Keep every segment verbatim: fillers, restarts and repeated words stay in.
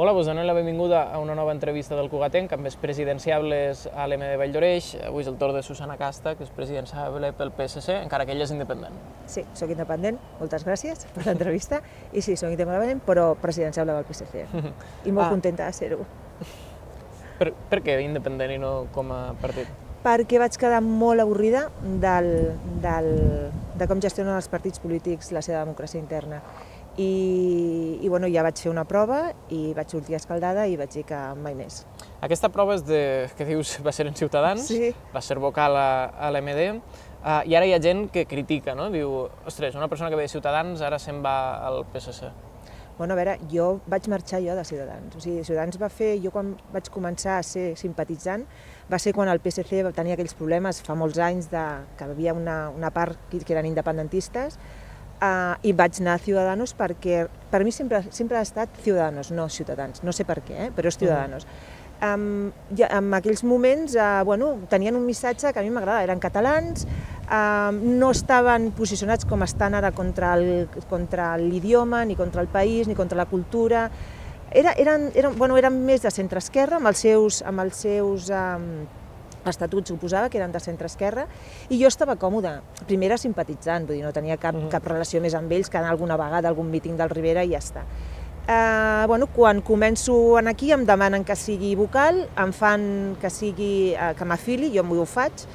Hola, vos donem la benvinguda a una nova entrevista del Cugatenc amb els presidenciables a l'E M de Valldoreix. Avui és el torn de Susana Casta, que és presidenciable pel P S C, encara que ella és independent. Sí, soc independent, moltes gràcies per l'entrevista. I sí, soc independent, però presidenciable del P S C. I molt ah. contenta de ser-ho. Per, per què independent i no com a partit? Perquè vaig quedar molt avorrida del, del, de com gestionen els partits polítics la seva democràcia interna. I, i bueno, ja vaig fer una prova i vaig sortir escaldada i vaig dir que mai més. Aquesta prova és de, que dius va ser en Ciutadans, sí. Va ser vocal a, a l'E M D, uh, i ara hi ha gent que critica, no? Diu, ostres, una persona que ve de Ciutadans ara se'n va al P S C. Bueno, a veure, jo vaig marxar jo de Ciutadans. O sigui, Ciutadans va fer, jo quan vaig començar a ser simpatitzant, va ser quan el P S C tenia aquells problemes fa molts anys de, que hi havia una, una part que eren independentistes, Uh, i vaig anar a Ciudadanos perquè per mi sempre, sempre ha estat Ciudadanos, no Ciutadans, no sé per què, eh? Però és Ciudadanos. Um, ja, en aquells moments uh, bueno, tenien un missatge que a mi m'agrada, eren catalans, uh, no estaven posicionats com estan ara contra l'idioma, ni contra el país, ni contra la cultura. Era, eren, eren, bueno, eren més de centre-esquerra, amb els seus, amb els seus um, estatuts suposava que eren de centre-esquerra, i jo estava còmoda. Primer era simpatitzant, vull dir, no tenia cap, cap relació més amb ells que anar alguna vegada a algun míting del Rivera i ja està. Uh, bueno, quan començo aquí em demanen que sigui vocal, em fan que sigui uh, que m'afili, jo m'ho faig,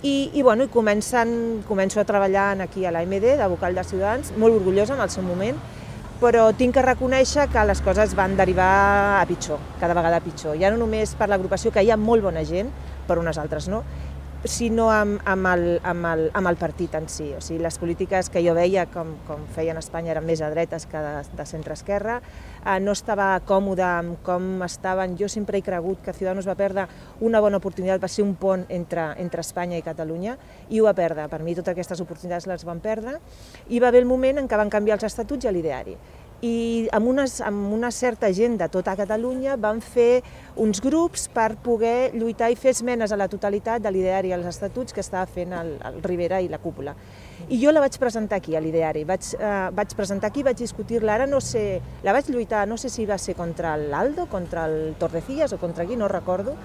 i, i, bueno, i comencen, començo a treballar aquí a l'A M D, de vocal de Ciutadans, molt orgullosa en el seu moment, però tinc que reconèixer que les coses van derivar a pitjor, cada vegada a pitjor. Ja no només per l'agrupació, que hi ha molt bona gent, per unes altres no, sinó amb, amb, el, amb, el, amb el partit en si. O sigui, les polítiques que jo veia, com, com feien a Espanya, eren més a dretes que de, de centre-esquerra. Eh, no estava còmode amb com estaven. Jo sempre he cregut que Ciudadanos va perdre una bona oportunitat, va ser un pont entre, entre Espanya i Catalunya, i ho va perdre. Per mi totes aquestes oportunitats les van perdre, i va haver el moment en què van canviar els estatuts i l'ideari. I amb, unes, amb una certa gent de tota Catalunya van fer uns grups per poder lluitar i fer esmenes a la totalitat de l'ideari i als estatuts que estava fent el, el Rivera i la cúpula. I jo la vaig presentar aquí, a l'ideari, vaig, eh, vaig presentar aquí, vaig discutir-la, ara no sé, la vaig lluitar, no sé si va ser contra l'Aldo, contra el Torrecillas o contra qui, no recordo,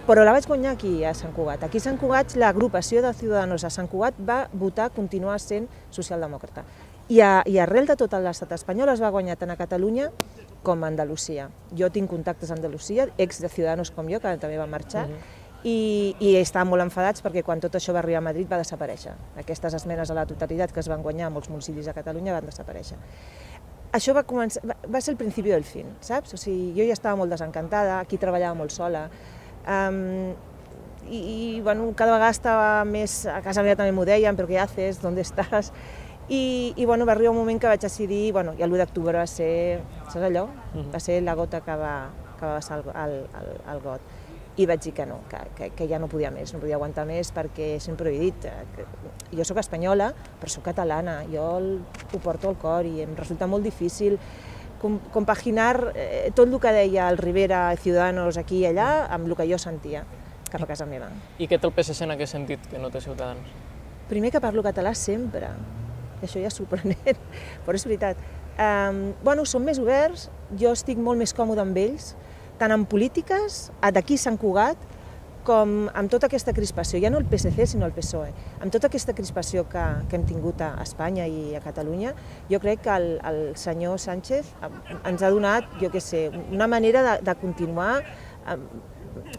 però la vaig guanyar aquí a Sant Cugat. Aquí a Sant Cugat l'agrupació de Ciudadanos a Sant Cugat va votar continuar sent socialdemòcrata. I, a, i arrel de tot l'estat espanyol es va guanyar tant a Catalunya com a Andalusia. Jo tinc contactes a Andalusia, ex de Ciudadanos com jo, que també va marxar, uh-huh. i, i estaven molt enfadats perquè quan tot això va arribar a Madrid va desaparèixer. Aquestes esmenes a la totalitat que es van guanyar a molts municipis de Catalunya van desaparèixer. Això va, començar, va, va ser el principi del fin, saps? O sigui, jo ja estava molt desencantada, aquí treballava molt sola, um, i, i bueno, cada vegada estava més, a casa meva també m'ho deien, però què haces, d'on estàs? I, i bueno, va arribar un moment que vaig decidir, bueno, i l'u d'octubre va ser, saps allò? Uh-huh. Va ser la gota que va, que va passar al, al, al got. I vaig dir que no, que, que, que ja no podia més, no podia aguantar més, perquè sempre ho he dit, que jo sóc espanyola, però sóc catalana, jo el, ho porto al cor i em resulta molt difícil com, compaginar eh, tot el que deia el Rivera, Ciudadanos aquí i allà, amb el que jo sentia cap a casa meva. I què té el P S C en aquest sentit, que no té Ciutadans? Primer que parlo català sempre. Això ja és sorprenent, però és veritat. Um, bueno, són més oberts, jo estic molt més còmode amb ells, tant en polítiques, d'aquí Sant Cugat, com amb tota aquesta crispació, ja no el P S C sinó el P S O E, amb tota aquesta crispació que, que hem tingut a Espanya i a Catalunya, jo crec que el, el senyor Sánchez ens ha donat, jo què sé, una manera de, de continuar, um,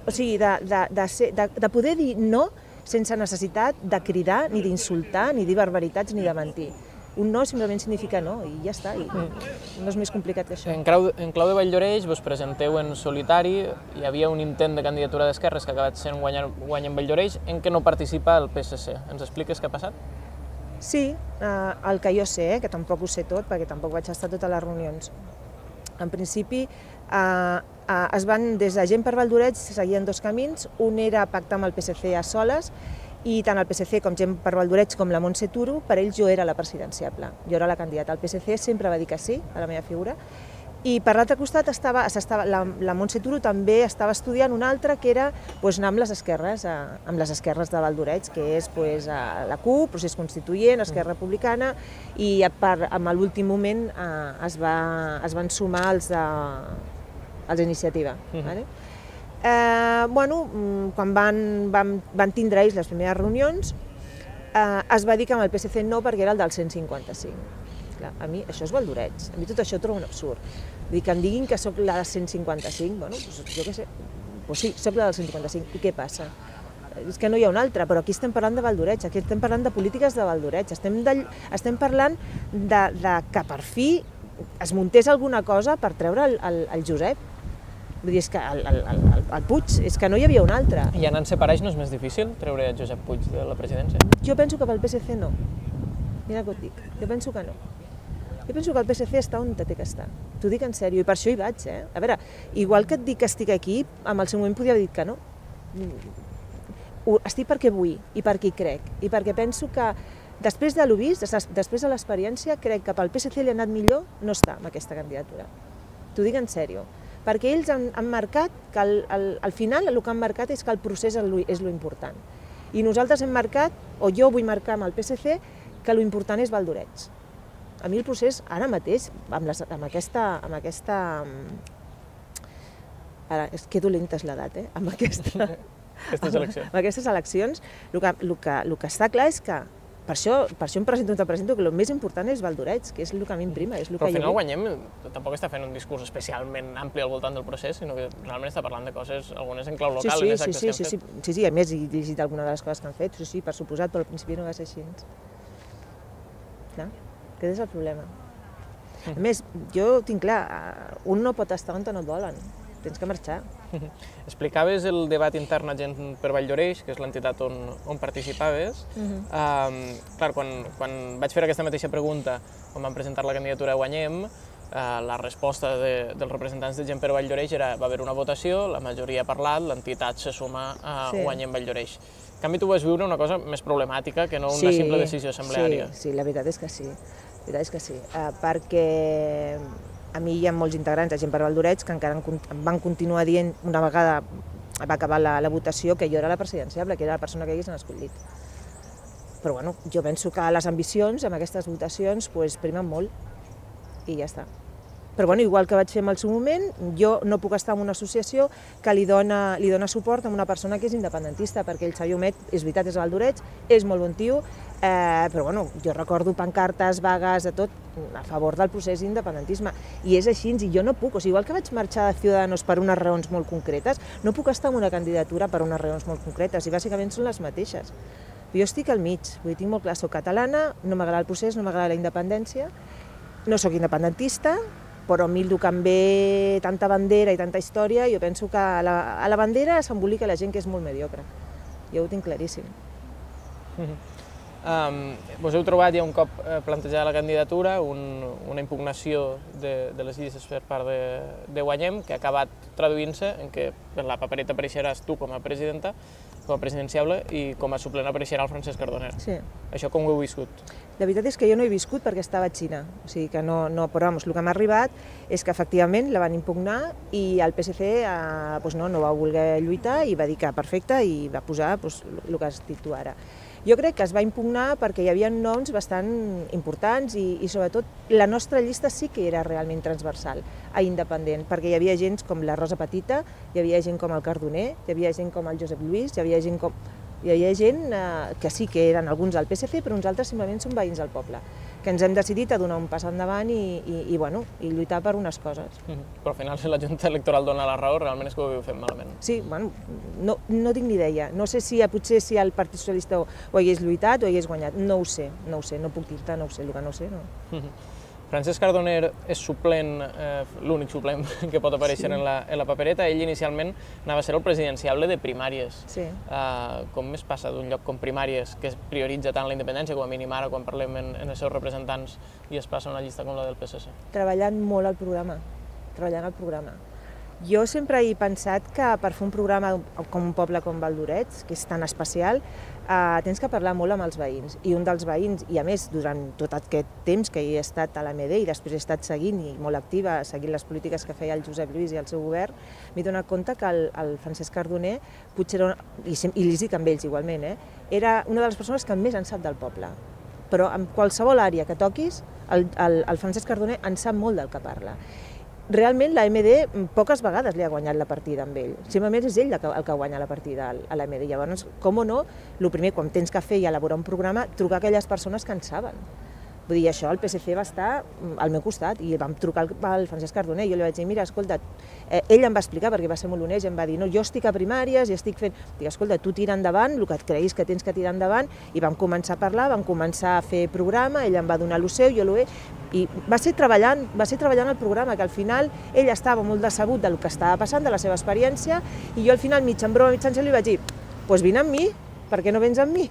o sigui, de, de, de, ser, de, de poder dir no sense necessitat de cridar, ni d'insultar, ni dir barbaritats, ni de mentir. Un no simplement significa no, i ja està, i no és més complicat que això. En clau, en clau de Valldoreix vos presenteu en solitari, hi havia un intent de candidatura d'esquerres que ha acabat sent guanyar, guanyar en Valldoreix, en què no participa el P S C. Ens expliques què ha passat? Sí, eh, el que jo sé, eh, que tampoc ho sé tot, perquè tampoc vaig estar a totes les reunions. En principi, eh, eh, es van, des de Gent per Valldoreix, seguien dos camins. Un era pactar amb el P S C a soles, i tant el P S C com Gent per Valldoreix com la Montse Turo, per ells jo era la presidenciable, jo era la candidata. El P S C sempre va dir que sí a la meva figura, i per l'altre costat estava, estava, la, la Montse Turo també estava estudiant una altra que era pues, anar amb les esquerres, a, amb les esquerres de Valldoreix, que és pues, a la CUP, Procés Constituent, Esquerra Republicana, i per, en l'últim moment eh, es, va, es van sumar els de els d'iniciativa. Vale? Eh, bueno, quan van, van, van tindre ells les primeres reunions, eh, es va dir que amb el P S C no perquè era el del cent cinquanta-cinc. Clar, a mi això és baldoreig, a mi tot això ho trobo un absurd. Vull dir, que em diguin que sóc la del cent cinquanta-cinc, bueno, doncs jo què sé, doncs sí, sóc la del cent cinquanta-cinc, i què passa? És que no hi ha un altre, però aquí estem parlant de baldoreig, aquí estem parlant de polítiques de baldoreig, estem, de, estem parlant de, de que per fi es muntés alguna cosa per treure el, el, el Josep. Vull dir, és que el, el, el, el Puig, és que no hi havia un altre. I anant separats no és més difícil treure Josep Puig de la presidència? Jo penso que pel P S C no. Mira què et dic, jo penso que no. Jo penso que el P S C està on té que estar. T'ho dic en sèrio, i per això hi vaig, eh? A veure, igual que et dic que estic aquí, en el seu moment podia haver dit que no. Estic perquè vull, i perquè hi crec, i perquè penso que després de l'ho vist, després de l'experiència, crec que pel P S C li ha anat millor no estar en aquesta candidatura. T'ho dic en sèrio. Perquè ells han, han marcat que al, al, al final el que han marcat és que el procés és lo, és lo important. I nosaltres hem marcat, o jo vull marcar amb el P S C, que lo important és Valdoreig. A mi el procés, ara mateix, amb, les, amb aquesta... Amb aquesta ara, és que dolenta és l'edat, eh? Amb, aquesta, aquestes eleccions. Amb aquestes eleccions, el que, el que, el que està clar és que Per això, per això em presento, te presento que el més important és Valdoreig, que és el que a mi em prima. És el Però que al final jo... Guanyem tampoc està fent un discurs especialment ampli al voltant del procés, sinó que realment està parlant de coses, algunes en clau local, sí, sí, en les sí, actes sí, que han sí, fet. sí, sí, sí, a més he llegit alguna de les coses que han fet, sí, sí, per suposat, però al principi no va ser així. No? Aquest és el problema. A més, jo tinc clar, un no pot estar on no et volen, tens que marxar. Explicaves el debat intern a Gent per Valldoreix, que és l'entitat on, on participaves. Uh -huh. um, clar, quan, quan vaig fer aquesta mateixa pregunta, quan vam presentar la candidatura a Guanyem, uh, la resposta de, dels representants de Gent per Valldoreix era va haver una votació, la majoria ha parlat, l'entitat se suma a sí. Guanyem Valldoreix. En canvi, tu vas viure una cosa més problemàtica que no una sí, simple decisió assembleària. Sí, sí, la veritat és que sí, la veritat és que sí, uh, perquè a mi hi ha molts integrants de Gent per Valldoreix que encara em van continuar dient, una vegada va acabar la, la votació, que jo era la presidenciable, que era la persona que haguessin escollit. Però bueno, jo penso que les ambicions amb aquestes votacions pues, primen molt i ja està. Però bueno, igual que vaig fer en el seu moment, jo no puc estar en una associació que li dona, li dona suport a una persona que és independentista, perquè el Xavier Humet, és veritat, és a Valldoreix, és molt bon tio, eh, però bueno, jo recordo pancartes, vagues, de tot, a favor del procés d'independentisme. I és així, i jo no puc, o sigui, igual que vaig marxar de Ciudadanos per unes raons molt concretes, no puc estar en una candidatura per unes raons molt concretes, i bàsicament són les mateixes. Jo estic al mig, vull dir, tinc molt clar, soc catalana, no m'agrada el procés, no m'agrada la independència, no sóc independentista, però a mi el que em ve tanta bandera i tanta història, jo penso que a la, a la bandera s'embolica la gent que és molt mediocre. Jo ho tinc claríssim. Um, vos heu trobat ja un cop plantejada la candidatura, un, una impugnació de, de les llistes per part de, de Guanyem, que ha acabat traduint-se en què per la papereta apareixeràs tu com a presidenta, com a presidenciable, i com a suplent apareixerà el Francesc Cardoner. Sí. Això com ho heu viscut? La veritat és que jo no he viscut perquè estava a Xina, o sigui que no, no, però vamos, el que m'ha arribat és que efectivament la van impugnar i el P S C eh, pues no, no va voler lluitar i va dir que perfecte i va posar pues, el que has dit tu ara. Jo crec que es va impugnar perquè hi havia noms bastant importants i, i sobretot la nostra llista sí que era realment transversal a independent, perquè hi havia gent com la Rosa Petita, hi havia gent com el Cardoner, hi havia gent com el Josep Lluís, hi havia gent com... Hi havia gent eh, que sí que eren alguns del P S C, però uns altres simplement són veïns del poble, que ens hem decidit a donar un pas endavant i, i, i, bueno, i lluitar per unes coses. Mm-hmm. Però al final, si la Junta Electoral dona la raó, realment és que ho havíeu fet malament. Sí, bueno, no, no tinc ni idea. No sé si potser si el Partit Socialista ho, ho hagués lluitat o hagués guanyat. No ho sé, no ho sé, no puc dir-te, no ho sé, el que no ho sé, no. Mm-hmm. Francesc Cardoner és suplent, eh, l'únic suplent que pot aparèixer sí. en, la, en la papereta. Ell inicialment anava a ser el presidenciable de primàries. Sí. Uh, com es passa d'un lloc com primàries, que es prioritza tant la independència, com a mínim ara quan parlem en, en els seus representants, i es passa a una llista com la del P S C? Treballant molt al programa, treballant al programa. Jo sempre he pensat que per fer un programa com un poble com Valldoreix, que és tan especial, eh, tens que parlar molt amb els veïns. I un dels veïns, i a més durant tot aquest temps que he estat a l'A M D i després he estat seguint i molt activa, seguint les polítiques que feia el Josep Lluís i el seu govern, m'he donat compte que el, el Francesc Cardoner, potser era, una, i, i li dic amb ells igualment, eh, era una de les persones que més en sap del poble. Però en qualsevol àrea que toquis, el, el, el Francesc Cardoner en sap molt del que parla. realment la M D poques vegades li ha guanyat la partida amb ell. Simplement és ell el que, el que guanya la partida a la M D. Llavors, com o no, el primer, quan tens que fer i elaborar un programa, trucar a aquelles persones que en saben. Vull dir, això, el P S C va estar al meu costat i vam trucar al Francesc Cardoner i jo li vaig dir, mira, escolta, eh, ell em va explicar, perquè va ser molt honest, i em va dir, no, jo estic a primàries i estic fent... Dic, escolta, tu tira endavant el que et creguis que tens que tirar endavant, i vam començar a parlar, vam començar a fer programa, ell em va donar el seu, jo l'he... I va ser treballant, va ser treballant el programa, que al final ell estava molt decebut del que estava passant, de la seva experiència, i jo al final, mig en broma, mig en sèrio, li vaig dir, doncs vine amb mi, per què no vens amb mi?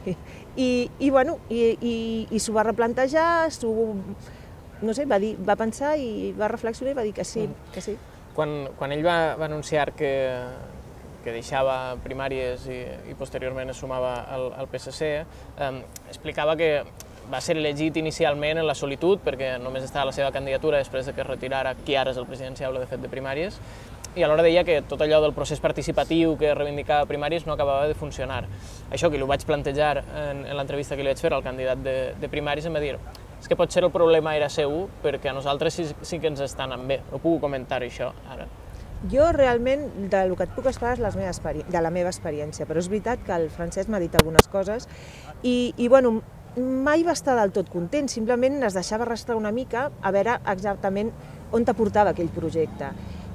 I, i bueno, i, i, i s'ho va replantejar, no sé, va, dir, va pensar i va reflexionar i va dir que sí, que sí. Quan, quan ell va, va anunciar que, que deixava primàries i, i posteriorment es sumava al, al P S C, eh, explicava que va ser elegit inicialment en la solitud, perquè només estava la seva candidatura després de que es retirara qui ara és el presidenciable, de fet, de primàries, i alhora deia que tot allò del procés participatiu que reivindicava primàries no acabava de funcionar. Això que li ho vaig plantejar en, en l'entrevista que li vaig fer al candidat de, de primàries em va dir és que potser el problema era seu perquè a nosaltres sí, sí que ens està anant bé. No puc comentar això ara. Jo realment, del que et puc explicar és les meves de la meva experiència, però és veritat que el Francesc m'ha dit algunes coses i, i bueno, mai va estar del tot content, simplement es deixava arrastrar una mica a veure exactament on t'aportava aquell projecte.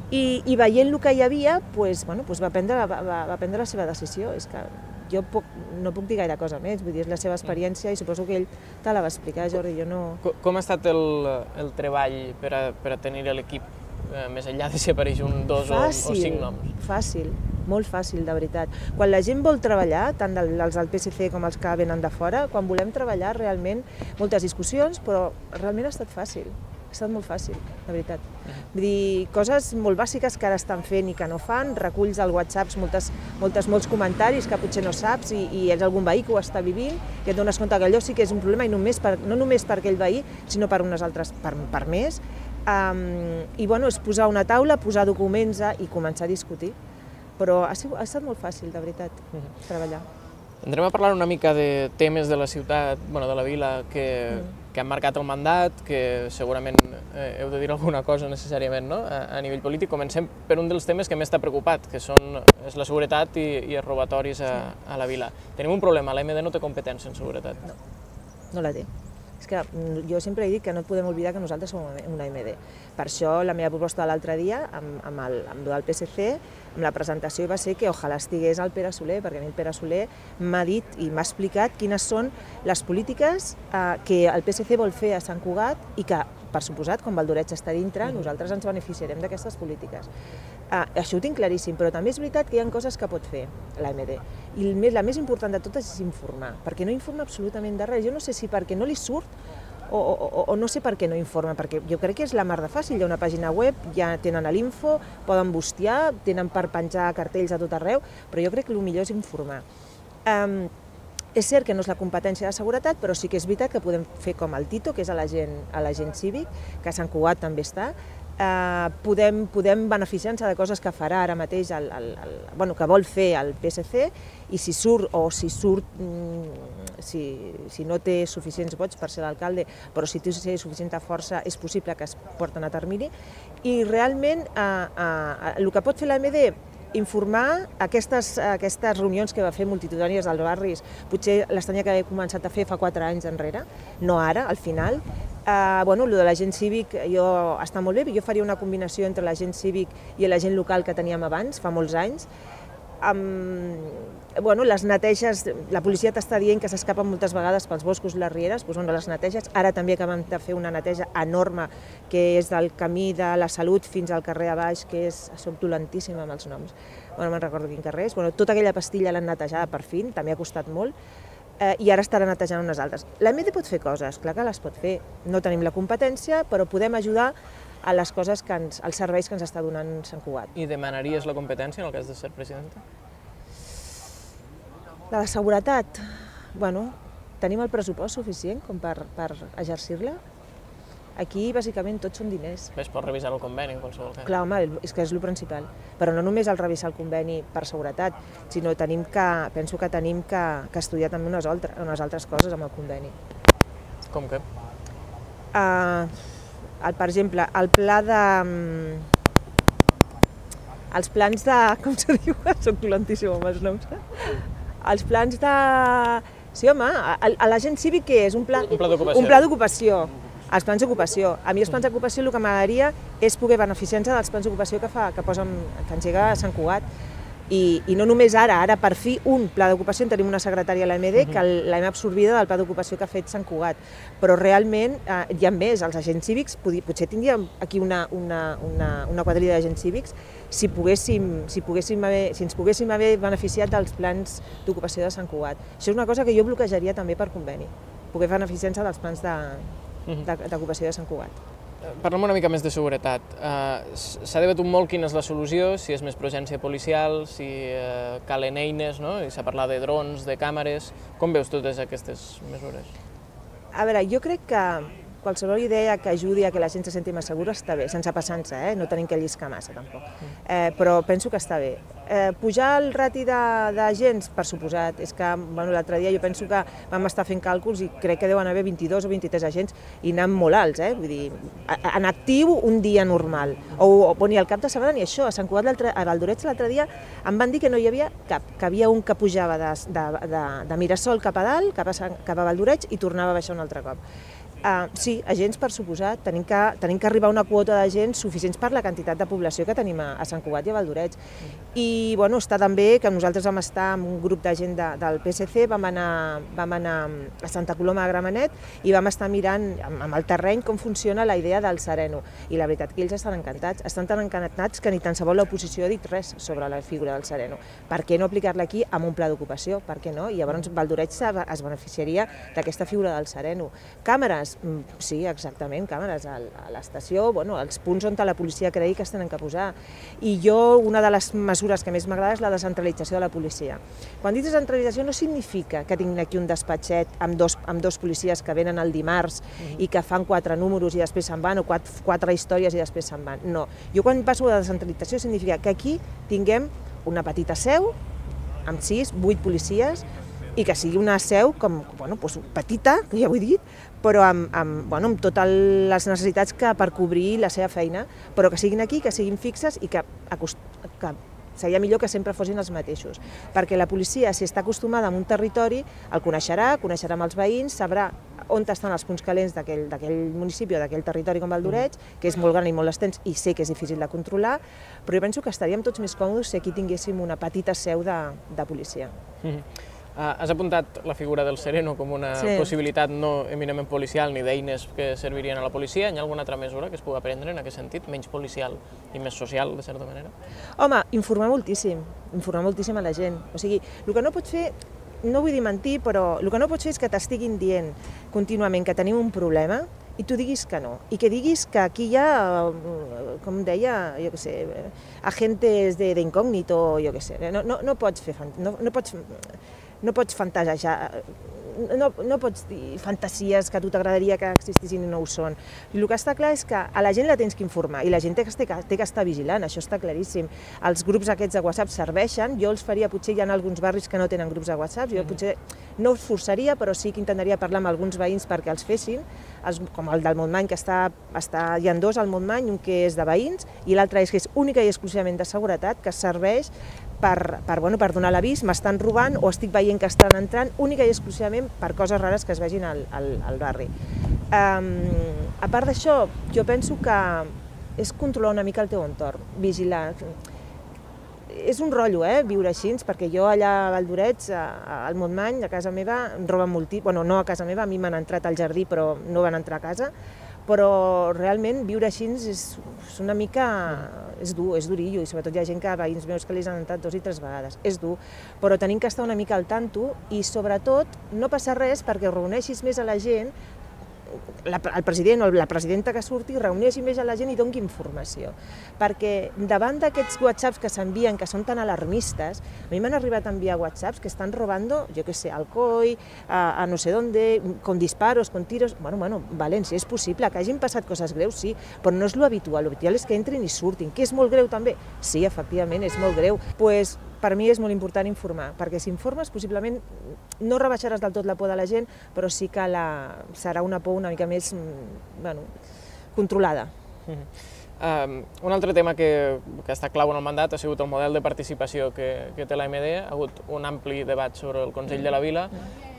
I, i veient el que hi havia, pues, bueno, pues va, prendre, va, va prendre la seva decisió. És que jo puc, no puc dir gaire cosa més, vull dir, és la seva experiència i suposo que ell te la va explicar, Jordi, jo no... Com, com ha estat el, el treball per a, per a tenir l'equip, eh, més enllà de si apareix un, dos fàcil, o, o cinc noms? Fàcil, molt fàcil, de veritat. Quan la gent vol treballar, tant els del P S C com els que venen de fora, quan volem treballar realment, moltes discussions, però realment ha estat fàcil. Ha estat molt fàcil, de veritat. Vull dir, coses molt bàsiques que ara estan fent i que no fan, reculls al WhatsApp moltes, moltes, molts comentaris que potser no saps i, i és algun veí que ho està vivint, que et dones compte que allò sí que és un problema i només per, no només per aquell veí, sinó per unes altres, per, per més. Um, I bueno, és posar una taula, posar documents i començar a discutir. Però ha, sigut, ha estat molt fàcil, de veritat, uh-huh. treballar. Entrem a parlar una mica de temes de la ciutat, bueno, de la vila, que, mm. que han marcat el mandat, que segurament eh, heu de dir alguna cosa necessàriament, no? a, a nivell polític. Comencem per un dels temes que més t'ha preocupat, que són, és la seguretat i, i els robatoris a, a la vila. Tenim un problema, l'A M D no té competència en seguretat. No, no la té. És que jo sempre he dit que no podem oblidar que nosaltres som una A M D. Per això la meva proposta de l'altre dia, amb, amb, el, amb el P S C, amb la presentació va ser que ojalà estigués el Pere Soler, perquè a mi el Pere Soler m'ha dit i m'ha explicat quines són les polítiques eh, que el P S C vol fer a Sant Cugat i que, per suposat, com Valdoreig està dintre, nosaltres ens beneficiarem d'aquestes polítiques. Uh, això ho tinc claríssim, però també és veritat que hi ha coses que pot fer l'A M D. I el més, la més important de totes és informar, perquè no informa absolutament de res. Jo no sé si perquè no li surt o, o, o no sé per què no informa, perquè jo crec que és la mar de fàcil. Hi ha una pàgina web, ja tenen l'info, poden bustiar, tenen per penjar cartells a tot arreu, però jo crec que el millor és informar. Um, És cert que no és la competència de seguretat, però sí que és veritat que podem fer com el Tito, que és l'agent cívic, que a Sant Cugat també està. Eh, podem, podem beneficiar-nos de coses que farà ara mateix, el, el, el, bueno, que vol fer el P S C, i si surt o si surt, si, si no té suficients vots per ser l'alcalde, però si té suficient força és possible que es porten a termini. I realment eh, eh, el que pot fer l'A M D, informar aquestes, aquestes reunions que va fer multitudinàries als barris, potser les tenia que haver començat a fer fa quatre anys enrere, no ara, al final. Uh, bueno, el de l'agent cívic jo, està molt bé, jo faria una combinació entre l'agent cívic i l'agent local que teníem abans, fa molts anys. Um, bueno, les neteges, la policia t'està dient que s'escapen moltes vegades pels boscos i les rieres, doncs, bueno, les neteges, ara també acabem de fer una neteja enorme que és del camí de la Salut fins al carrer a baix, que és, soc dolentíssima amb els noms, bueno, no me'n recordo quin carrer és, bueno, tota aquella pastilla l'han netejada per fi, també ha costat molt, eh, i ara estarà netejant unes altres. L'A M D pot fer coses, clar que les pot fer, no tenim la competència, però podem ajudar a les coses que ens, als serveis que ens està donant Sant Cugat. I demanaries la competència en el cas de ser presidenta? La de seguretat, bueno, tenim el pressupost suficient com per, per exercir-la. Aquí, bàsicament, tots són diners. Es pot revisar el conveni, en qualsevol cas. Clar, home, és que és el principal. Però no només el revisar el conveni per seguretat, sinó tenim que, penso que tenim que, que estudiar també unes, altres, unes altres coses amb el conveni. Com què? Uh, el, per exemple, el pla de... Els plans de... com se diu? Soc dolentíssima amb els noms. Els plans de... Sí, home, l'agent cívic què és? Un pla, un pla d'ocupació. Un pla d'ocupació. Els plans d'ocupació. A mi els plans d'ocupació el que m'agradaria és poder beneficiar-nos dels plans d'ocupació que, fa, que, posen, que engega Sant Cugat. I, I no només ara, ara per fi un pla d'ocupació, en tenim una secretària a l'A M D que l'hem absorbida del pla d'ocupació que ha fet Sant Cugat, però realment eh, hi ha més, els agents cívics, potser tindríem aquí una, una, una, una quadrilla d'agents cívics si, poguéssim, si, poguéssim haver, si ens poguéssim haver beneficiat dels plans d'ocupació de Sant Cugat. Això és una cosa que jo bloquejaria també per conveni, poder beneficiar-se dels plans d'ocupació de, de Sant Cugat. Parlem una mica més de seguretat. Uh, S'ha debatut molt quina és la solució, si és més presència policial, si uh, calen eines, no? I s'ha parlat de drons, de càmeres. Com veus totes aquestes mesures? A veure, jo crec que qualsevol idea que ajudi a que la gent se senti més segura està bé, sense passar-se, eh? No tenim que lliscar massa tampoc, eh, però penso que està bé. Eh, pujar el rati d'agents, per suposat, és que bueno, l'altre dia jo penso que vam estar fent càlculs i crec que deuen haver vint-i-dos o vint-i-tres agents i anant molt alts, eh? Vull dir, en actiu un dia normal, o, o ni al cap de setmana ni això. A Sant Cugat, a Valdoreig l'altre dia em van dir que no hi havia cap, que havia un que pujava de, de, de, de Mirasol cap a dalt, cap a, cap a Valdoreig i tornava a baixar un altre cop. Uh, sí, agents per suposat, tenim que, tenim que arribar a una quota d'agents suficients per la quantitat de població que tenim a, a Sant Cugat i a Valdoreig. I bueno, està també que nosaltres vam estar amb un grup de gent de, del P S C, vam anar, vam anar a Santa Coloma de Gramenet i vam estar mirant amb, amb el terreny com funciona la idea del Sereno. I la veritat que ells estan encantats, estan tan encantats que ni tan sabó l'oposició ha dit res sobre la figura del Sereno. Per què no aplicar-la aquí amb un pla d'ocupació? Per què no? I llavors Valdoreig es beneficiaria d'aquesta figura del Sereno. Càmeres? Sí, exactament, càmeres a l'estació, bueno, als punts on la policia cregui que es tenen que posar. I jo, una de les mesures que més m'agrada és la descentralització de la policia. Quan dic descentralització no significa que tinguin aquí un despatxet amb dos, amb dos policies que venen el dimarts i que fan quatre números i després se'n van, o quatre, quatre històries i després se'n van. No, jo quan passo de descentralització significa que aquí tinguem una petita seu amb sis, vuit policies i que sigui una seu com, bueno, doncs petita, que ja ho he dit, però amb, amb, bueno, amb totes les necessitats que per cobrir la seva feina, però que siguin aquí, que siguin fixes i que, que seria millor que sempre fossin els mateixos. Perquè la policia, si està acostumada a un territori, el coneixerà, coneixerà amb els veïns, sabrà on estan els punts calents d'aquell municipi o d'aquell territori com Valdoreig, que és molt gran i molt extens i sé que és difícil de controlar, però jo penso que estaríem tots més còmodes si aquí tinguéssim una petita seu de, de policia. Mm-hmm. Uh, has apuntat la figura del Sereno com una sí. possibilitat no eminentment policial ni d'eines que servirien a la policia. Hi ha alguna altra mesura que es pugui prendre en aquest sentit, menys policial i més social, de certa manera? Home, informar moltíssim, informar moltíssim a la gent. O sigui, el que no pots fer, no vull dir mentir, però el que no pots fer és que t'estiguin dient contínuament que tenim un problema i tu diguis que no, i que diguis que aquí hi ha, com deia, jo què sé, agentes d'incògnito, jo què sé, no, no, no pots fer, no, no pots... No pots fantasejar, no, no pots dir fantasies que a tu t'agradaria que existissin i no ho són. I el que està clar és que a la gent la tens que informar i la gent té que, té que estar vigilant, això està claríssim. Els grups aquests de WhatsApp serveixen, jo els faria, potser hi ha alguns barris que no tenen grups de WhatsApp, jo potser no els forçaria, però sí que intentaria parlar amb alguns veïns perquè els fessin, els, com el del Montmany, que està, està, hi ha dos al Montmany, un que és de veïns i l'altre és que és única i exclusivament de seguretat, que serveix per, per, bueno, per donar l'avís, m'estan robant o estic veient que estan entrant, única i exclusivament per coses rares que es vegin al, al, al barri. Um, a part d'això, jo penso que és controlar una mica el teu entorn, vigilar. És un rotllo, eh, viure així, perquè jo allà a Valdoreig, al Montmany, a casa meva, em roben moltíssim, bueno, no a casa meva, a mi m'han entrat al jardí però no van entrar a casa, però realment viure així és, és una mica... és dur, és durillo, i sobretot hi ha gent que, veïns meus que li han entrat dos i tres vegades, és dur, però tenim que estar una mica al tanto i sobretot no passa res perquè reuneixis més a la gent, la, el president o la presidenta que surti reuneixi més a la gent i doni informació, perquè davant d'aquests whatsapps que s'envien, que són tan alarmistes, a mi m'han arribat a enviar whatsapps que estan robando, jo què sé, Alcoi, a, a no sé dónde, con disparos, con tiros, bueno, bueno, València, és possible que hagin passat coses greus, sí, però no és lo habitual, lo habitual és que entrin i surtin, que és molt greu també, sí, efectivament, és molt greu, pues, per mi és molt important informar, perquè si informes possiblement no rebaixaràs del tot la por de la gent, però sí que la, serà una por una mica més, bueno, controlada. Um, un altre tema que, que està clau en el mandat ha sigut el model de participació que, que té l'A M D. Ha hagut un ampli debat sobre el Consell de la Vila.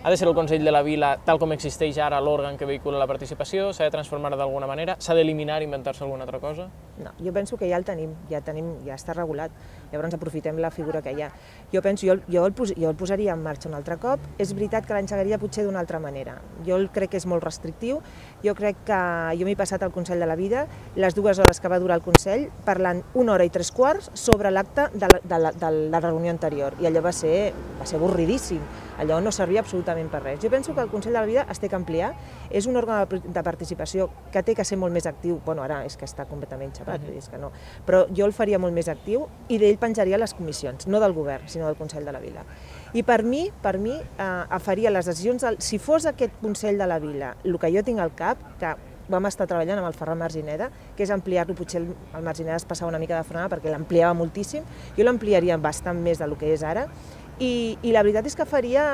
Ha de ser el Consell de la Vila, tal com existeix ara, l'òrgan que vehicula la participació? S'ha de transformar d'alguna manera? S'ha d'eliminar i inventar-se alguna altra cosa? No, jo penso que ja el tenim, ja, tenim, ja està regulat. Llavors aprofitem la figura que hi ha. Jo penso, jo, jo, el, pos, jo el posaria en marxa un altre cop. És veritat que l'engegaria potser d'una altra manera. Jo el crec que és molt restrictiu. Jo crec que jo m'he passat al Consell de la Vida les dues hores que va durar el Consell parlant una hora i tres quarts sobre l'acte de, la, de, la, de la reunió anterior. I allò va ser, va ser avorridíssim. Allò no servia absolutament per res. Jo penso que el Consell de la Vida es té que ampliar. És un òrgan de participació que té que ser molt més actiu. Bueno, ara és que està completament xapat, uh-huh. és que no. Però jo el faria molt més actiu i d'ell penjaria les comissions, no del govern, sinó del Consell de la Vila. I per mi, per mi, eh, faria les decisions, del, si fos aquest Consell de la Vila, el que jo tinc al cap, que vam estar treballant amb el Ferran Margineda, que és ampliar-lo, potser el, el Margineda es passava una mica de frenada perquè l'ampliava moltíssim, jo l'ampliaria bastant més del que és ara, i, i la veritat és que faria,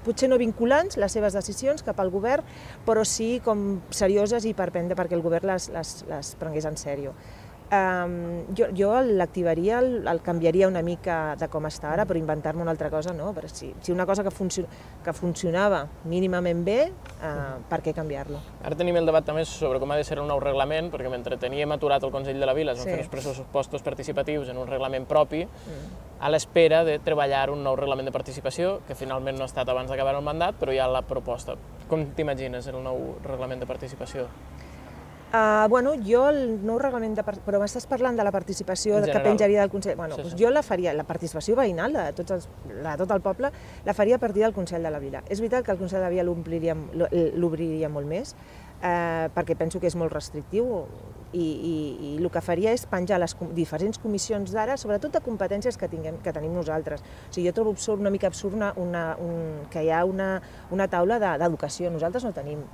potser no vinculants, les seves decisions cap al govern, però sí com serioses i per prendre perquè el govern les, les, les prengués en sèrio. Um, jo jo l'activaria, el, el canviaria una mica de com està ara, però inventar-me una altra cosa no, però si, si una cosa que, funcio, que funcionava mínimament bé, uh, per què canviar-lo? Ara tenim el debat també sobre com ha de ser el nou reglament, perquè mentre teníem aturat el Consell de la Vila, es van sí. fer els pressupostos participatius en un reglament propi, mm. a l'espera de treballar un nou reglament de participació, que finalment no ha estat abans d'acabar el mandat, però hi ha la proposta. Com t'imagines el nou reglament de participació? Uh, bueno, jo el nou reglament de participació, però m'estàs parlant de la participació que penjaria del Consell, bueno, sí, doncs sí. jo la faria, la participació veïnal de, tots els, de tot el poble, la faria a partir del Consell de la Vila. És veritat que el Consell de la Vila l'obriria molt més, eh, perquè penso que és molt restrictiu, i, i, i el que faria és penjar les diferents comissions d'ara, sobretot de competències que, tinguem, que tenim nosaltres. O sigui, jo trobo absurd, una mica absurd una, una, un, que hi ha una, una taula d'educació. Nosaltres no tenim,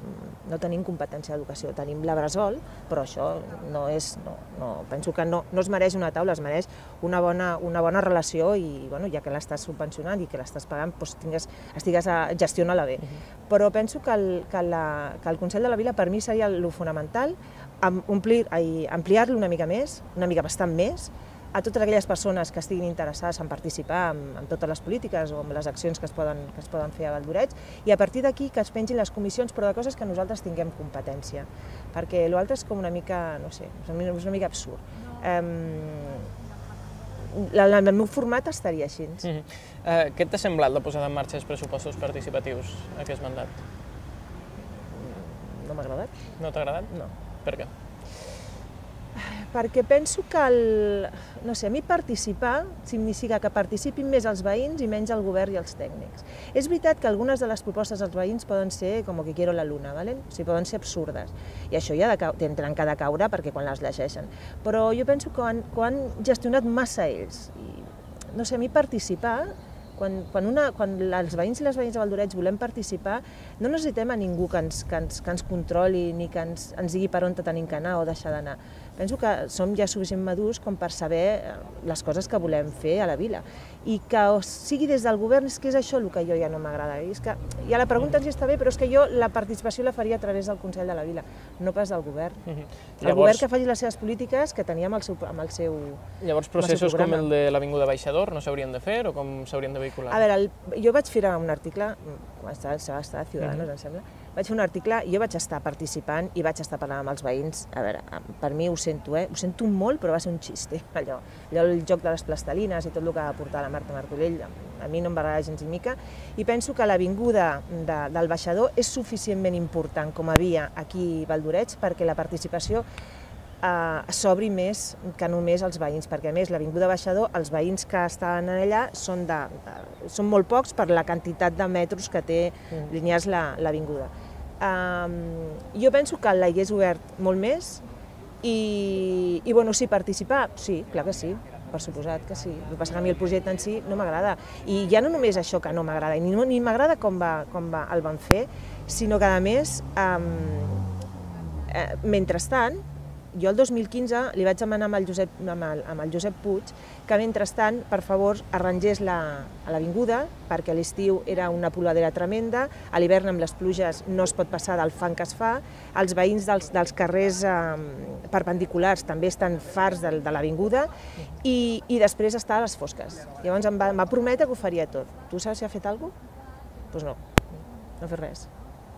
no tenim competència d'educació, tenim la Bressol, però això no és, no, no, penso que no, no es mereix una taula, es mereix una bona, una bona relació i bueno, ja que l'estàs subvencionant i que l'estàs pagant, doncs tingues, estigues a gestionar-la bé. Uh-huh. Però penso que el, que, la, que el Consell de la Vila per mi seria el fonamental, ampliar-lo una mica més, una mica bastant més, a totes aquelles persones que estiguin interessades en participar en, en totes les polítiques o en les accions que es poden, que es poden fer a Valldoreix, i a partir d'aquí que es pengin les comissions, però de coses que nosaltres tinguem competència, perquè l'altre és com una mica, no sé, és una mica absurd. Um, la, la, el meu format estaria així. Mm-hmm. uh, què t'ha semblat la posada en marxa dels pressupostos participatius, aquest mandat? No m'ha agradat. No t'ha agradat? No. Per què? Perquè penso que, el, no sé, a mi participar significa que participin més els veïns i menys el govern i els tècnics. És veritat que algunes de les propostes dels veïns poden ser com que quiero la luna, ¿vale? O sigui, poden ser absurdes, i això ja tenen que de caure perquè quan les llegeixen. Però jo penso que han, que han gestionat massa ells. I, no sé, a mi participar, quan, quan, una, quan els veïns i les veïnes de Valldoreix volem participar, no necessitem a ningú que ens, que ens, que ens controli ni que ens, ens digui per on tenim que anar o deixar d'anar. Penso que som ja suficient madurs com per saber les coses que volem fer a la vila. I que sigui des del govern, és que és això el que jo ja no m'agrada. És que ja la pregunta sí està bé, però és que jo la participació la faria a través del Consell de la Vila, no pas del govern. Uh-huh. El Llavors, govern que faci les seves polítiques que tenia amb el seu, amb el seu Llavors processos com el de l'Avinguda Baixador no s'haurien de fer o com s'haurien de vehicular? A veure, el, jo vaig fer un article, va estar, va estar a Ciudadanos, uh-huh. em sembla, vaig fer un article i jo vaig estar participant i vaig estar parlant amb els veïns. A veure, per mi ho sento, eh? Ho sento molt, però va ser un xiste, allò. Allò, el joc de les plastelines i tot el que va portar la Marta Martorell, a mi no em va agradar gens ni mica, i penso que l'avinguda de, del Baixador és suficientment important com havia aquí a Valldoreix perquè la participació eh, s'obri més que només els veïns, perquè a més l'avinguda Baixador, els veïns que estan allà són, de, de, són molt pocs per la quantitat de metres que té mm. linears l'avinguda. Um, jo penso que l'hagués obert molt més i, i bueno, sí, participar, sí, clar que sí, per suposat que sí. El que passa que a mi el projecte en si no m'agrada. I ja no només això que no m'agrada, ni, ni m'agrada com, va, com va, el van fer, sinó que a més, um, eh, mentrestant, jo el dos mil quinze li vaig demanar amb el Josep, amb el, amb el Josep Puig que mentrestant, per favor, arrangés l'avinguda, perquè a l'estiu era una poladera tremenda, a l'hivern amb les pluges no es pot passar del fang que es fa, els veïns dels, dels carrers eh, perpendiculars també estan farts de, de l'avinguda i, i després està a les fosques. Llavors em va, em va prometre que ho faria tot. Tu saps si ha fet alguna cosa? Doncs no, no ha fet res.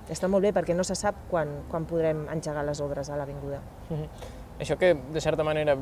Està molt bé perquè no se sap quan, quan podrem engegar les obres a l'avinguda. Mm-hmm. Això que, de certa manera,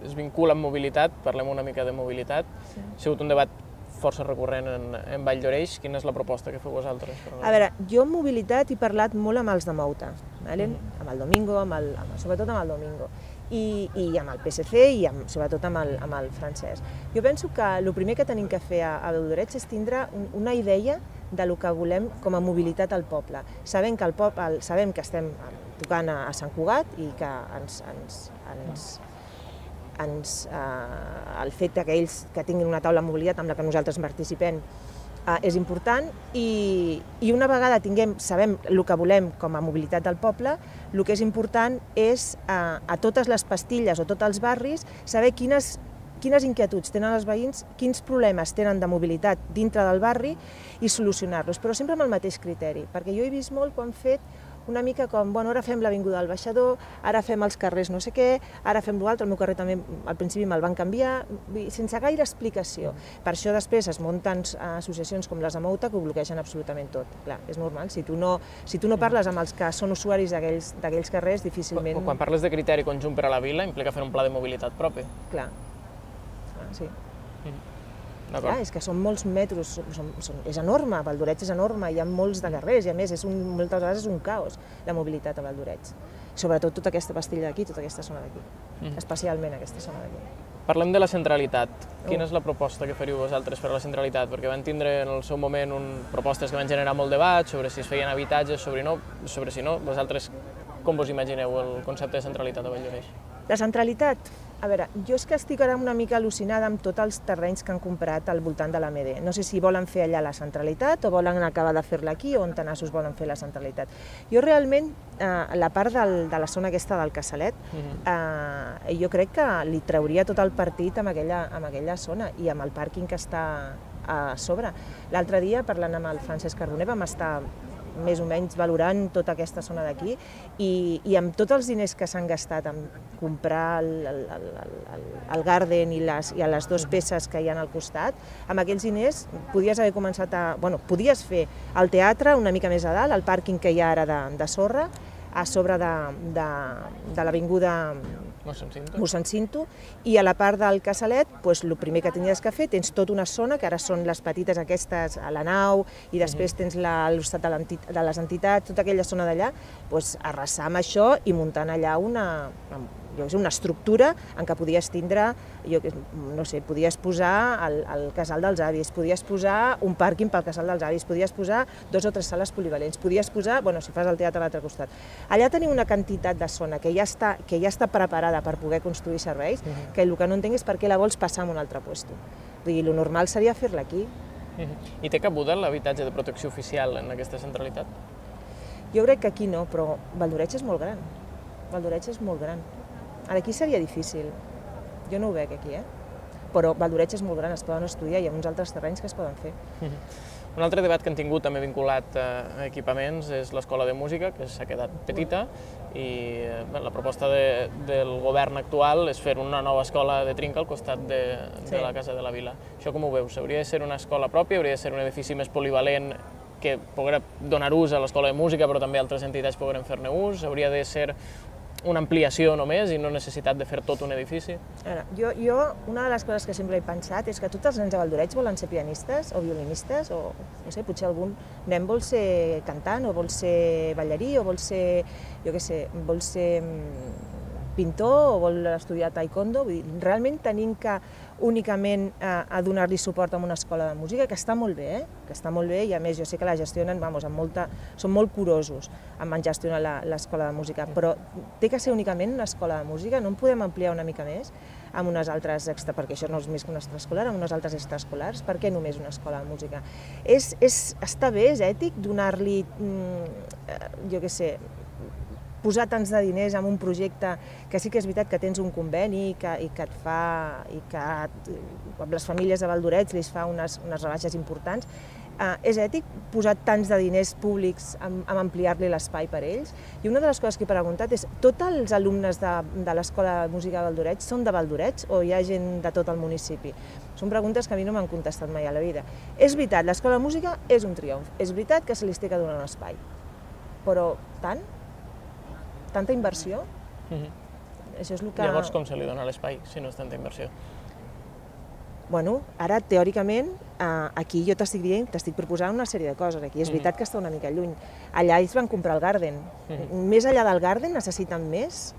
es vincula amb mobilitat, parlem una mica de mobilitat, sí. Ha sigut un debat força recurrent en, en Vall d'Oreix. Quina és la proposta que feu vosaltres? A veure, jo en mobilitat he parlat molt amb els de Mouta, vale? Mm. Amb el Domingo, amb el, amb, sobretot amb el Domingo, i, i amb el P S C i amb, sobretot amb el, amb el Francesc. Jo penso que el primer que tenim que fer a, a Vall d'Oreix és tindre un, una idea de lo que volem com a mobilitat al poble. Sabem que, el poble, el, sabem que estem tocant a, a Sant Cugat i que ens, ens, ens, ens, eh, el fet que ells que tinguin una taula de mobilitat amb la que nosaltres participem eh, és important i, i una vegada tinguem, sabem el que volem com a mobilitat del poble, el que és important és eh, a totes les pastilles o tots els barris saber quines quines inquietuds tenen els veïns, quins problemes tenen de mobilitat dintre del barri i solucionar-los, però sempre amb el mateix criteri, perquè jo he vist molt quan han fet una mica com, bueno, ara fem l'avinguda del Baixador, ara fem els carrers no sé què, ara fem l'altre, el meu carrer també al principi me'l van canviar, sense gaire explicació. Per això després es munten associacions com les de Mouta que ho bloquegen absolutament tot. Clar, és normal, si tu no, si tu no parles amb els que són usuaris d'aquells carrers, difícilment... Quan parles de criteri conjunt per a la vila, implica fer un pla de mobilitat propi. Clar. Sí. Mm. Clar, és que són molts metros, són, són, és enorme, Vall d'Oreix és enorme, hi ha molts de carrers i a més és un, moltes vegades és un caos la mobilitat a Vall d'Oreix. Sobretot tota aquesta pastilla d'aquí, tota aquesta zona d'aquí, mm. especialment aquesta zona d'aquí. Parlem de la centralitat. Quina és la proposta que faríeu vosaltres per a la centralitat? Perquè van tindre en el seu moment un, propostes que van generar molt debat sobre si es feien habitatges, sobre, no, sobre si no. Vosaltres com vos imagineu el concepte de centralitat a Vall d'Oreix? La centralitat? A veure, jo és que estic ara una mica al·lucinada amb tots els terrenys que han comprat al voltant de l'A M D. No sé si volen fer allà la centralitat o volen acabar de fer-la aquí o on tenassos volen fer la centralitat. Jo realment, eh, la part del, de la zona aquesta del Casalet, eh, jo crec que li trauria tot el partit amb aquella, amb aquella zona i amb el pàrquing que està a sobre. L'altre dia, parlant amb el Francesc Carboner, vam estar més o menys valorant tota aquesta zona d'aquí i, i amb tots els diners que s'han gastat en comprar el, el, el, el, el Garden i les, i les dues peces que hi ha al costat, amb aquells diners podies haver començat a... Bueno, podies fer el teatre una mica més a dalt, el pàrquing que hi ha ara de, de sorra, a sobre de, de, de l'avinguda Mossèn Cinto, i a la part del Casalet, doncs, el primer que tenies que fer, tens tota una zona, que ara són les petites aquestes a la nau, i després tens l'hostat de les entitats, tota aquella zona d'allà, doncs, arrasar amb això i muntant allà una, jo sé, una estructura en què podies tindre, jo no sé, podies posar el, el casal dels avis, podies posar un pàrquing pel casal dels avis, podies posar dos o tres sales polivalents, podies posar, bueno, si fas el teatre a l'altre costat. Allà tenim una quantitat de zona que ja està, que ja està preparada per poder construir serveis, uh-huh. que el que no entenc és per què la vols passar a un altre lloc. Vull dir, el normal seria fer-la aquí. Uh-huh. I té cabuda l'habitatge de protecció oficial en aquesta centralitat? Jo crec que aquí no, però Vall d'Oreix és molt gran. Vall d'Oreix és molt gran. Ara aquí seria difícil. Jo no ho veig aquí, eh? Però Vall d'Oreix és molt gran, es poden estudiar, hi ha uns altres terrenys que es poden fer. Uh-huh. Un altre debat que han tingut també vinculat a equipaments és l'escola de música, que s'ha quedat petita, i bé, la proposta de, del govern actual és fer una nova escola de trinca al costat de, de sí. la Casa de la Vila. Això com ho veus? Hauria de ser una escola pròpia, hauria de ser un edifici més polivalent que poguera donar ús a l'escola de música, però també altres entitats pogueren fer-ne ús, hauria de ser una ampliació només i no necessitat de fer tot un edifici? Ara, jo, jo, una de les coses que sempre he pensat és que tots els nens de Vall d'Oreix volen ser pianistes o violinistes o, no sé, potser algun nen vol ser cantant o vol ser ballarí o vol ser, jo què sé, vol ser pintor o vol estudiar taekwondo. Vull dir, realment tenim que únicament eh, a donar-li suport a una escola de música, que està molt bé, eh? que està molt bé, i a més jo sé que la gestionen, vamos, amb molta, són molt curosos en gestionar l'escola de música, però té que ser únicament una escola de música, no en podem ampliar una mica més amb unes altres, extra, perquè això no és més que una extraescolar, amb unes altres extraescolars, per què només una escola de música? És, és, està bé, és ètic donar-li, jo què sé, posar tants de diners en un projecte que sí que és veritat que tens un conveni i que, i que et fa, i que amb les famílies de Valldoreix li fa unes, unes rebaixes importants, eh, és ètic posar tants de diners públics en, en ampliar-li l'espai per a ells? I una de les coses que he preguntat és, tots els alumnes de, de l'Escola de Música de Valldoreix són de Valldoreix o hi ha gent de tot el municipi? Són preguntes que a mi no m'han contestat mai a la vida. És veritat, l'Escola de Música és un triomf, és veritat que se li té que donar un espai, però tant? Tanta inversió? Mm-hmm. Això és el que... Llavors, com se li dona l'espai si no és tanta inversió? Bueno, ara, teòricament, eh, aquí jo t'estic dient, t'estic proposant una sèrie de coses. Aquí és veritat que està una mica lluny. Allà ells van comprar el Garden. Mm-hmm. Més enllà del Garden necessiten més.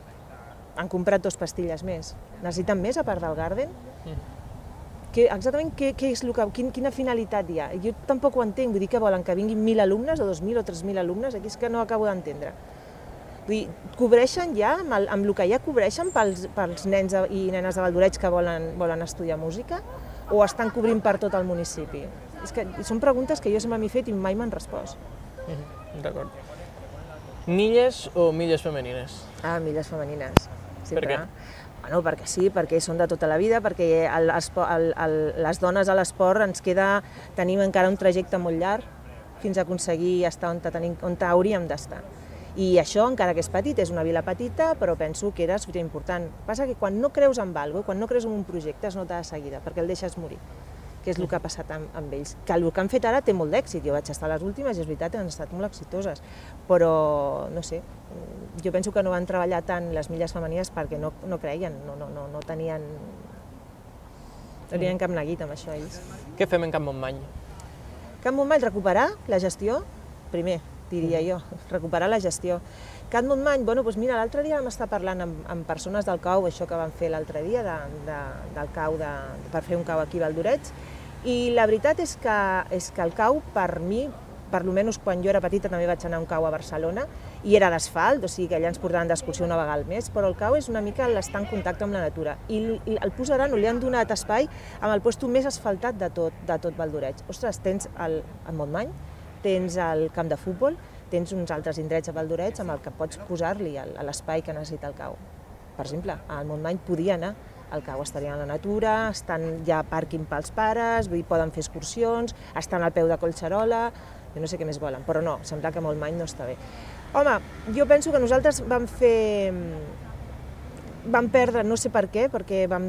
Han comprat dos pastilles més. Necessiten més a part del Garden? Mm-hmm. Que, exactament què, què és el que, quin, quina finalitat hi ha? Jo tampoc ho entenc, vull dir que volen que vinguin mil alumnes o dos mil o tres mil alumnes, aquí és que no acabo d'entendre. Vull dir, cobreixen ja, amb el, amb el que ja cobreixen pels, pels nens i nenes de Valldoreix que volen, volen estudiar música, o estan cobrint per tot el municipi? És que són preguntes que jo sempre m'he fet i mai m'han respost. Mm-hmm. D'acord. Milles o milles femenines? Ah, milles femenines. Per què? Bueno, perquè sí, perquè són de tota la vida, perquè el, el, el, les dones a l'esport ens queda, tenim encara un trajecte molt llarg fins a aconseguir estar on, tenim, on hauríem d'estar. I això, encara que és petit, és una vila petita, però penso que era superimportant. Passa que quan no creus en alguna cosa, quan no creus en un projecte, es nota de seguida, perquè el deixes morir, que és el que ha passat amb, amb ells. Que el que han fet ara té molt d'èxit, jo vaig estar a les últimes i és veritat que han estat molt exitoses, però no sé, jo penso que no van treballar tant les milles femenines perquè no, no creien, no, no, no, no tenien, no tenien cap neguit amb això ells. Què fem en Camp Montmany? Camp Montmany, recuperar la gestió, primer, diria jo, recuperar la gestió. Camp Montmany, bueno, doncs mira, l'altre dia vam estar parlant amb, amb persones del cau, això que van fer l'altre dia, de, de, del cau de, per fer un cau aquí a Valldoreix, i la veritat és que, és que el cau, per mi, per almenys quan jo era petita també vaig anar a un cau a Barcelona, i era d'asfalt, o sigui que allà ens portaven d'excursió una vegada al mes, però el cau és una mica l'estar en contacte amb la natura. I, i el posaran o li han donat espai amb el lloc més asfaltat de tot, de tot Valldoreix. Ostres, tens el, el Montmany, tens el camp de futbol, tens uns altres indrets a Valldoreix amb el que pots posar-li l'espai que necessita el cau. Per exemple, al Montmany podia anar, el cau estaria a la natura, estan ja pàrquing pels pares, vull dir, poden fer excursions, estan al peu de Collserola, jo no sé què més volen, però no, sembla que Montmany no està bé. Home, jo penso que nosaltres vam fer... vam perdre, no sé per què, perquè vam,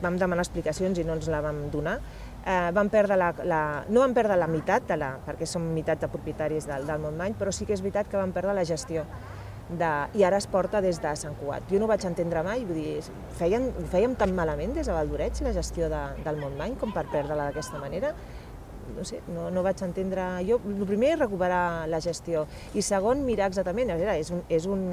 vam demanar explicacions i no ens la vam donar, eh, vam perdre la, la, no vam perdre la meitat, de la, perquè som meitat de propietaris del, del Montmany, però sí que és veritat que vam perdre la gestió. De, i ara es porta des de Sant Cugat. Jo no ho vaig entendre mai, vull dir, feien, fèiem tan malament des de Valldoreix la gestió de, del Montmany com per perdre-la d'aquesta manera. No sé, no, no vaig entendre... Jo, el primer és recuperar la gestió i segon, mirar exactament, a veure, és un... És un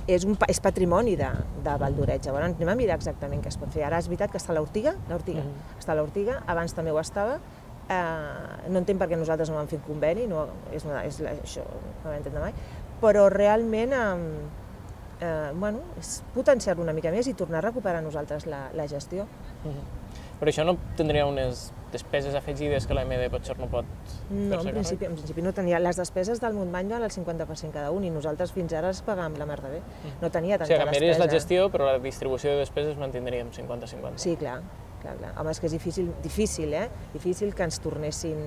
És, un, és patrimoni de, de Valldoreix, llavors anem a mirar exactament què es pot fer. Ara és veritat que està l'Ortiga, l'Ortiga, mm-hmm. està l'Ortiga, abans també ho estava, eh, no entenc per què nosaltres no vam fer un conveni, no, és, una, és això no vam entendre mai, però realment eh, eh, bueno, és potenciar-lo una mica més i tornar a recuperar nosaltres la, la gestió. Mm-hmm. Però això no tindria unes despeses afegides que l'A M D potser no pot No, en principi, en principi no tenia. Les despeses del Montmany van al cinquanta per cent cada un i nosaltres fins ara es pagàvem la mar de bé. No tenia tanta despesa. O sigui, canviaries la gestió, però la distribució de despeses mantindríem cinquanta cinquanta. Sí, clar, clar, clar. Home, és que és difícil, difícil, eh? Difícil que ens tornessin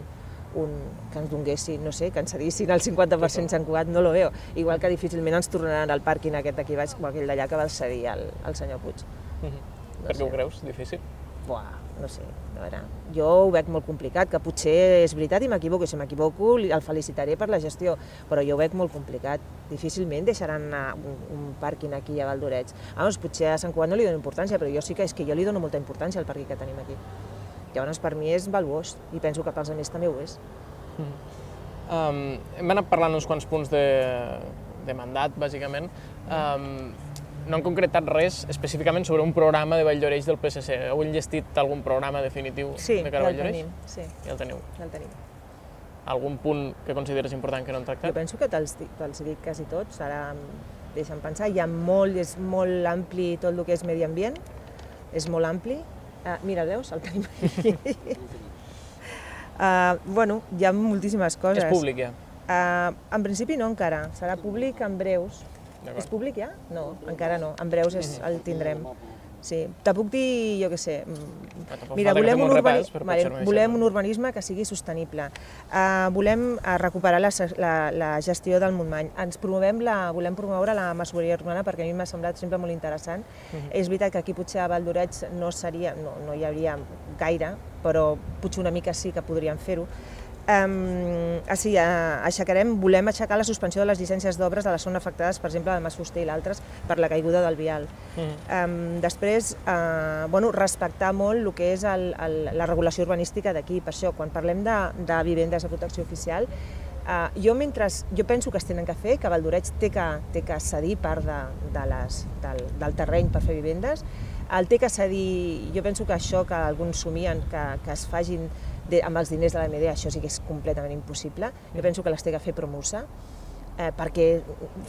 un, que ens donguessin, no sé, que ens cedissin el cinquanta per cent Sant Cugat, no lo veo. Igual que difícilment ens tornaran al pàrquing aquest d'aquí baix o aquell d'allà que va cedir el, el senyor Puig. Mm-hmm. Per què ho creus? Difícil? Buah, no sé, a veure, jo ho veig molt complicat, que potser és veritat i m'equivoco, si m'equivoco el felicitaré per la gestió, però jo ho veig molt complicat. Difícilment deixaran anar un, un pàrquing aquí a Valldoreix. Vamos, potser a Sant Cugat no li dono importància, però jo sí que és que jo li dono molta importància al pàrquing que tenim aquí. Llavors, per mi és valuós i penso que pels altres també ho és. Mm. Um, hem anat parlant uns quants punts de, de mandat, bàsicament. Um, No han concretat res específicament sobre un programa de Valldoreix del P S C. Heu enllestit algun programa definitiu sí, de cara a Valldoreix? Sí, ja el teniu. Ja el tenim. Algun punt que consideres important que no han tractat? Jo penso que te'ls te dic quasi tots, ara em deixen pensar. Hi ha molt, és molt ampli tot el que és medi ambient, és molt ampli. Uh, mira, veus, el tenim aquí. uh, bueno, hi ha moltíssimes coses. És públic, ja? Uh, en principi no encara, serà públic en breus. És públic ja? No, encara no, en breus és, el tindrem. Sí, te puc dir, jo què sé, mira, volem un, urbani... vale, volem un urbanisme que sigui sostenible, uh, volem uh, recuperar la, la, la gestió del Montmany, ens promovem la, volem promoure la masoveria urbana perquè a mi m'ha semblat sempre molt interessant. Uh-huh. És veritat que aquí potser a Valldoreix no, seria, no, no hi hauria gaire, però potser una mica sí que podríem fer-ho. Um, així, uh, aixecarem, volem aixecar la suspensió de les llicències d'obres de les zones afectades, per exemple, del Mas Fuster i l'altres, per la caiguda del vial. Mm. Um, després, uh, bueno, respectar molt el que és el, el, la regulació urbanística d'aquí. Per això, quan parlem de, de vivendes de protecció oficial, uh, jo, mentre, jo penso que es tenen que fer, que Valldoreix té que, té que cedir part de, de les, del, del terreny per fer vivendes, el té que cedir, jo penso que això que alguns somien, que, que es facin de, amb els diners de la M D, això sí que és completament impossible. Jo penso que les té que fer Promusa, eh, perquè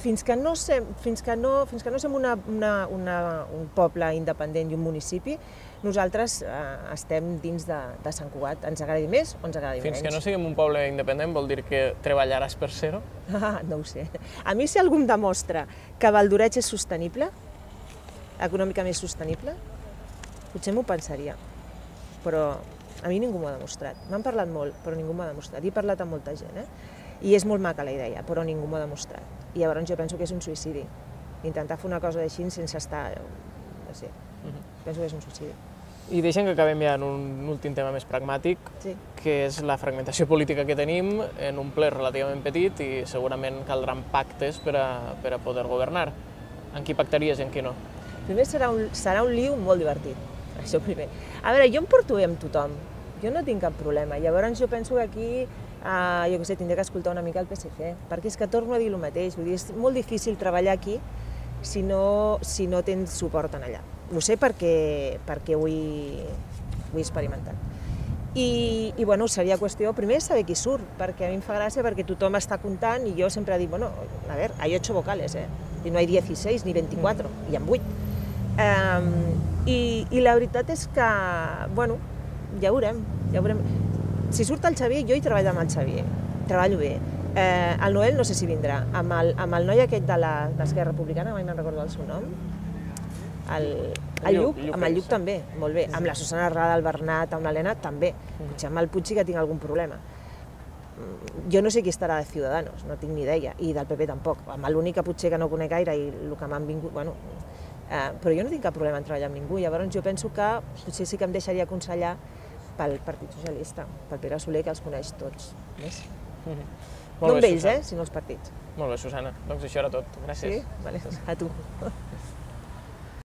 fins que no sem, fins que no, fins que no som una, una, una, un poble independent i un municipi, nosaltres eh, estem dins de, de Sant Cugat. Ens agradi més o ens agradi fins menys. Fins que no siguem un poble independent vol dir que treballaràs per ser-ho? Ah, no ho sé. A mi si algú em demostra que Valldoreix és sostenible, econòmicament sostenible, potser m'ho pensaria, però a mi ningú m'ho ha demostrat. M'han parlat molt, però ningú m'ho ha demostrat. He parlat amb molta gent, eh? I és molt maca la idea, però ningú m'ho ha demostrat. I llavors jo penso que és un suïcidi. Intentar fer una cosa d'així sense estar... no sé, uh-huh. Penso que és un suïcidi. I deixem que acabem ja en un últim tema més pragmàtic, sí. Que és la fragmentació política que tenim en un ple relativament petit i segurament caldran pactes per a, per a poder governar. En qui pactaries i en qui no? Primer serà un, serà un liu molt divertit. Això primer. A veure, jo em porto bé amb tothom, jo no tinc cap problema, llavors jo penso que aquí, eh, jo què sé, tindré que escoltar una mica el P S C, perquè és que torno a dir el mateix, vull dir, és molt difícil treballar aquí si no, si no tens suport en allà. Ho sé perquè, perquè ho, he, ho he experimentat. I, i bueno, seria qüestió, primer, saber qui surt, perquè a mi em fa gràcia perquè tothom està comptant i jo sempre dic, bueno, a veure, hay ocho vocales, eh? I no hay dieciséis ni veinticuatro, hi ha vuit. Um, i, i la veritat és que, bueno, ja veurem, ja veurem. Si surt el Xavier, jo hi treballo amb el Xavier, treballo bé. Eh, el Noel no sé si vindrà, amb el, amb el noi aquest de l'Esquerra Republicana, mai me'n recordo el seu nom, el, el Lluc, amb el Lluc també, molt bé, amb la Susana Rada, el Bernat, amb l'Helena també, potser amb el Puig sí que tinc algun problema. Jo no sé qui estarà de Ciudadanos, no tinc ni idea, i del P P tampoc, amb l'únic que potser que no conec gaire i el que m'han vingut, bueno, Uh, però jo no tinc cap problema en treballar amb ningú, llavors jo penso que potser sí que em deixaria aconsellar pel Partit Socialista, pel Pere Soler, que els coneix tots. Més? Mm-hmm. No amb ells, eh, sinó els partits. Molt bé, Susana. Doncs això era tot. Gràcies. Sí? Vale, a tu.